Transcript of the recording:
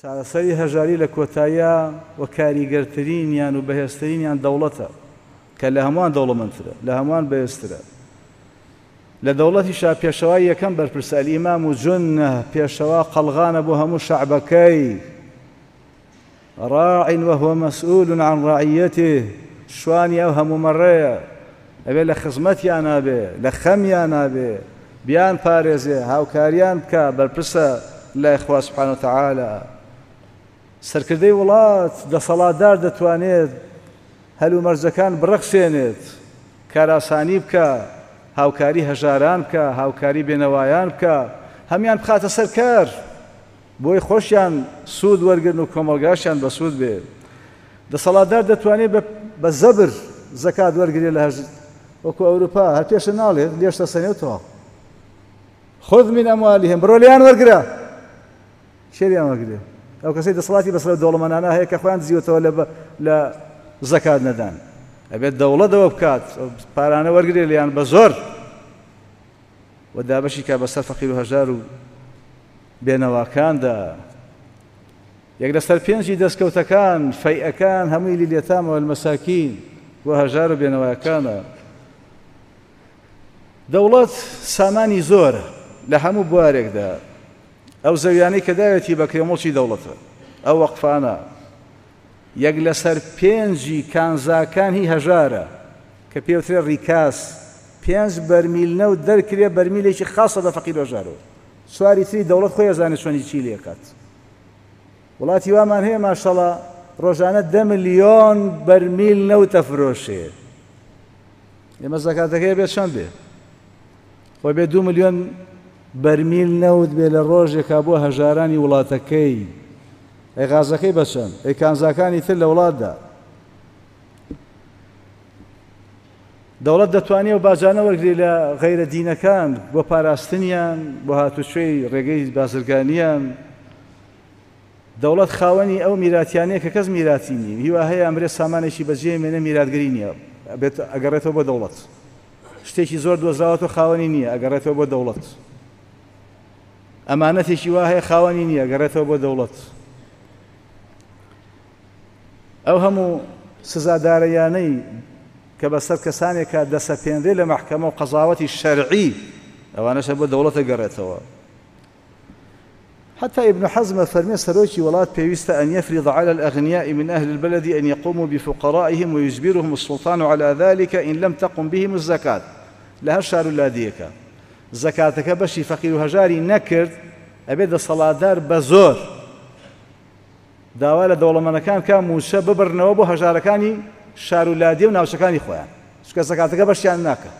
چارەسەری هەژاری لە کۆتاییا و کاریگەرترینیان و بەهێزترینیان دەوڵەتە کە لە هەمووان دەوڵەمەندترە، لە هەمووان بەهێزترە. لە دەوڵەتیشا پێشەوای یەکەم بەرپرسە، الامام جنە، پێشەوا قەڵغانە بۆ هەموو شەعبەکەی، راع وهو مسئول عن رعیته، شوانی ئەو هەموو مەڕەیە، ئەبێ لە خزمەتیانا بێ، لە خەمیانا بێ، بیان پارێزێ، هاوکاریان بکا، بەرپرسە لای خوا سبحانە وتعالی. سەرکردەی وڵات، دەسەڵاتدار دەتوانێت هەلومەرجەکان بڕەخسێنێت، کارئاسانی بکا، هاوکاری هەژاران بکا، هاوکاری بێنەوایان بکا، هەموویان بخاتە سەر کار، بۆی خۆشیان سوود وەرگرن و کۆمەڵگاشیان بەسوود بێ. دەسەڵاتدار دەتوانێت بە زەبر زەکات وەرگرێ لە هەژ وەکو ئەوروپا هەر پێشە ناڵێت لێش دەسەنێ و تەواو. خذ من اموالهم بڕۆ لێیان وەرگرە. کێ لێیان وەرگرێ؟ ئەو کەسەی دەسەڵاتی بەسەر ئەو دەوڵەمەنانە هەیە کە خۆیان دزیوەتەوە لە زەکات نەدان. ئەبێت دەوڵەت ئەوە بکات پارانە وەرگرێ لێیان بە زۆر و دابەشی کا بەسەر فەقیر و هەژار و بێنەواکاندا. یەک لەسەر پێنجی دەستکەوتەکان، فەیئەکان، هەمووی لیلیەتامە والمساکین، بۆ هەژار و بێنەواکانە. دەوڵەت سامانی زۆرە لە هەموو بوارێکدا. ئەو زەویانەی کە داوێتی بە کرێ موڵکی دەوڵەتە، ئەو وەقفانە. یەک لەسەر پێنجی کانزاکان هی هەژارە کە پێوترێ ڕیکاس، پێنج بەرمیل نەوت دەرکرێ بەرمیلێکی خاصە بە فەقیر و هەژارەوە، چواری تری دەوڵەت خۆی ئەزانێ چۆنی چی لێکات. وڵاتی وامان هەیە ماشەڵا ڕۆژانە 10 ملیۆن بەرمیل نەوت ئەفرۆشێ. ئێمە زەکاتەکەی بێ چەند بێ؟ خۆی بێ 2 ملیۆن بەرمیل نەوت بێ لە ڕۆژێکا بۆ هەژارانی وڵاتەکەی. ئەی غازەکەی بەچەند؟ ئەی کانزاکانی تر لە وڵاتدا؟ دەوڵەت دەتوانێت و باجانە وەرگری لە غەیرە دینەکان بۆ پاراستنیان، بۆ هاتوچۆی ڕێگەی بازرگانیان. دەوڵەت خاوەنی ئەو میراتیانەیە کە کەس میراتی نییە، هیوا هەیە ئەمرێ سامانێکی بەجێ مێنێ میراتگری نییە، بێت ئەگەڕێتەوە بۆ دەوڵەت. شتێکی زۆر دۆزراوەتەوە خاوەنی نییە، ئەگەڕێتەوە بۆ دەوڵەت. ئەمانەتێکی وا هەیە خاوەنی نییە، گەڕێتەوە بۆ دەوڵەت. ئەو هەموو سزادارەیانەی کە بەسەر کەسانێکا دەسەپێنرێ لە مەحکەمە و قەزاوەتی شەرعی، ئەوانەشە بۆ دەوڵەتە گەڕێتەوە. حتى ابن حزم فەرمێ سەرۆکی وڵات پێویستە أن يفرض على الأغنياء من أهل البلد أن يقوموا بفقرائهم ويجبرهم السلطان على ذلك إن لم تقم بهم الزكاة. لە هەر شار و لادیەکە زەکاتەکە بەشی فەقیر و هەژاری نەکرد، ئەبێت دەسەڵاتدار بە زۆر داوا لە دەوڵەمەنەکان کە مووچە ببڕنەوە بۆ هەژارەکانی شار و لادیە و ناوچەکانی خۆیان، چونکە زەکاتەکە بەشیان ناکە.